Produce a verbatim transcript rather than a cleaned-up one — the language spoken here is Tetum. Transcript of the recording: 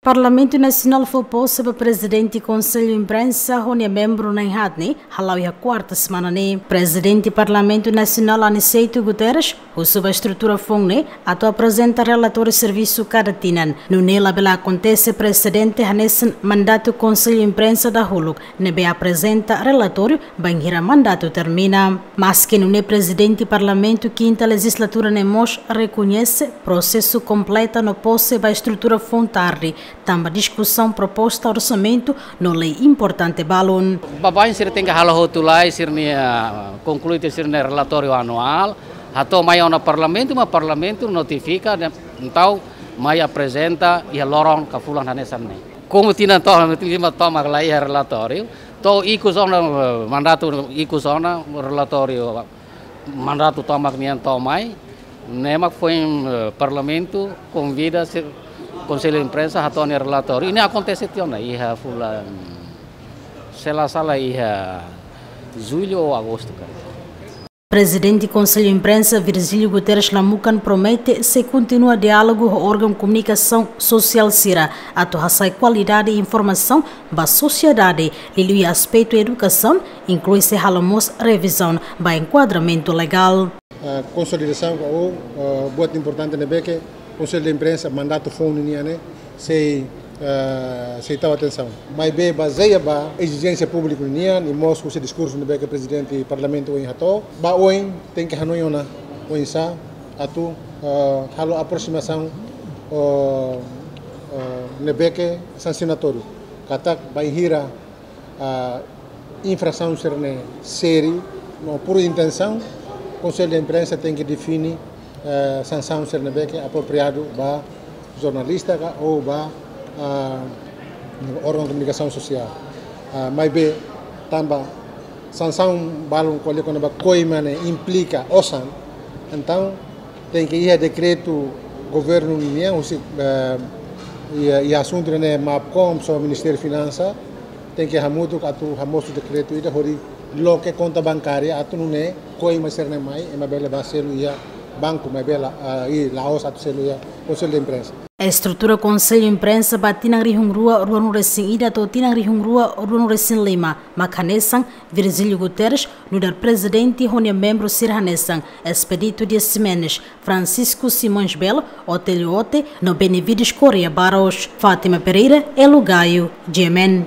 Parlamentu Nasionál fó pose ba Prezidente Konsellu Imprensa ho nia membru na'in-haat ne'e hala'o iha kuarta semana ne'e. Prezidente Parlamentu Nasionál Aniceto Guterres husu ba estrutura foun ne'e atu aprezenta relatóriu servisu kada tinan. Nune'e labele akontese presedente hanesan mandatu Konsellu Imprensa dahuluk ne'ebé aprezenta relatóriu bainhira mandatu termina. Maske nune'e, Prezidente Parlamentu kinta lejizlatura ne'e mós rekoñese prosesu kompleta no pose ba estrutura foun tarde, tanba diskusaun proposta orsamentu no lei importante balun. Baibain sira tenke halo hotu lai sira-nia, ah, konklui tiha sira-nia relatóriu anuál, hato'o mai ona Parlamentu, maibé Parlamentu notifika, entaun mai aprezenta iha loron ka fulan hanesan ne'e. Komu tinan tomak, tinan lima tomak la iha relatóriu, to'o ikus ona, eh, mandatu ikus ona, relatóriu mandatu tomak nian to'o mai, ne'e mak foin, eh, Parlamentu konvida sira, Konsellu Imprensa hato'o nia relatóriu. Ne'e akontese tiha ona iha fulan, se la sala, iha jullu ou agostu, kan. Prezidente Konsellu Imprensa Virgílio Guterres Lamukan promete sei kontinua diálogu ho órgaun komunikasaun sosiál sira atu hasa'e kualidade informasaun ba sosiedade, liuliu iha aspetu edukasaun, inklui sei halo mós revizaun ba enkuadramentu legál. Ah, konsolidasaun ka, ou, ah, buat importante ne'ebé ke Konsellu de Imprensa mandatu foun nian ne'e sei, ah, sei tau atensaun. Maibé bazeia ba ezijénsia públiku nian, i mós husi diskursu ne'ebé ke Prezidente Parlamentu ohin hato'o, ba oin tenke hanoin ona oinsá atu, ah, halo aproximasaun, ah, ah, ne'ebé ke sansionatóriu. Katak bainhira, ah, infrasaun sira-ne'e sériu no puru intensaun, Konsellu de Imprensa tenke define, eh, sansaun sira ne'ebé ke apropriadu ba jornalista ka ou ba, ah, órgaun komunikasaun sosiál. Ah, maibé tanba sansaun balun ko'alia kona-ba koima ne'e implika osan, entaun tenke iha dekretu governu nian husi, eh, iha, iha asuntu ne'e MAPCOM, so Ministériu Finansa, tenke hamutuk atu hamosu dekretu ida hodi loke konta bankária atu nune'e koima sira-ne'e mai, ema bele bá selu iha banku, maibé la, ah, i la'ós atu selu iha Konsellu de Imprensa. Estrutura Konsellu Imprensa ba tinan rihun rua ruanulu resin ida to'o tinan rihun rua ruanulu resin lima mak hanesan: Virgílio Guterres nu'udar prezidente ho nia membru sira hanesan Expedito Dias Ximenes, Francisco Simões Belo, Otélio Ote no Benevides Correia Barros. Fátima Pereira, Elo Gaio, G M N.